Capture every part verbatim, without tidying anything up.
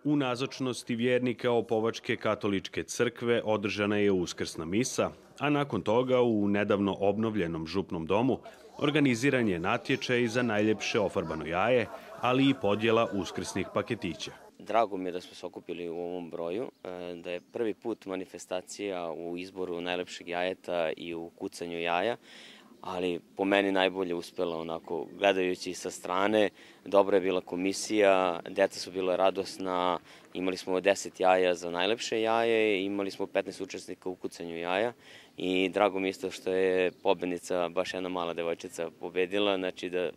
U nazočnosti vjernika Opovačke katoličke crkve održana je uskrsna misa, a nakon toga u nedavno obnovljenom župnom domu organiziran je natječaj za najljepše ofarbano jaje, ali i podjela uskrsnih paketića. Drago mi je da smo se okupili u ovom broju, da je prvi put manifestacija u izboru najlepšeg jajeta i u kucanju jaja, ali po meni najbolje uspela onako, gledajući sa strane. Dobra je bila komisija, deca su bila radosna, imali smo deset jaja za najlepše jaje, imali smo petnaest učesnika u kucanju jaja i drago mi isto što je pobednica, baš jedna mala devojčica, pobedila, znači da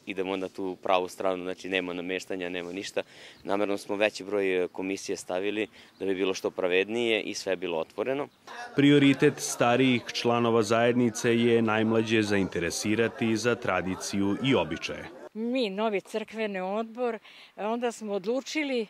idemo na tu pravu stranu, znači nema nameštanja, nema ništa. Namerno smo veći broj komisije stavili da bi bilo što pravednije i sve je bilo otvoreno. Prioritet starijih članova zajednice je najmlađe zainteresirati za tradiciju i običaje. Mi, novi crkveni odbor, onda smo odlučili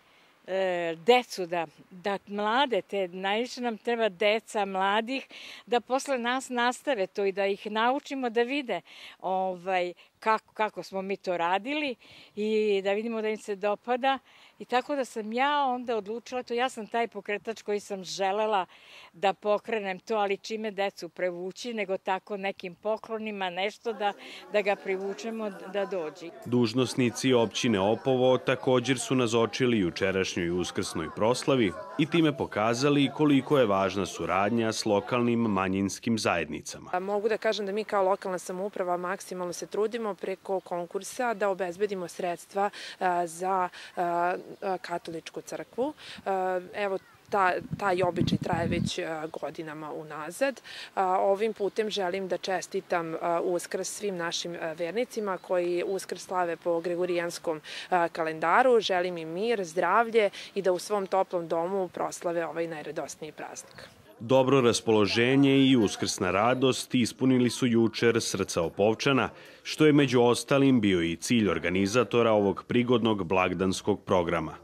e, decu da, da mlade, te najviše nam treba deca mladih, da posle nas nastave to i da ih naučimo da vide ovaj, kako, kako smo mi to radili i da vidimo da im se dopada. I tako da sam ja onda odlučila to, ja sam taj pokretač koji sam želela da pokrenem to, ali čime decu prevući, nego tako nekim poklonima, nešto da, da ga privučemo da dođe. Dužnosnici općine Opovo također su nazočili jučerašnjoj uskrsnoj proslavi i time pokazali koliko je važna suradnja s lokalnim manjinskim zajednicama. Mogu da kažem da mi kao lokalna samouprava maksimalno se trudimo preko konkursa da obezbedimo sredstva za katoličku crkvu. Evo, Ta, taj običaj traje već godinama unazad. Ovim putem želim da čestitam Uskrs svim našim vernicima koji Uskrs slave po gregorijanskom kalendaru. Želim im mir, zdravlje i da u svom toplom domu proslave ovaj najradosniji praznik. Dobro raspoloženje i uskrsna radost ispunili su jučer srca Opovčana, što je među ostalim bio i cilj organizatora ovog prigodnog blagdanskog programa.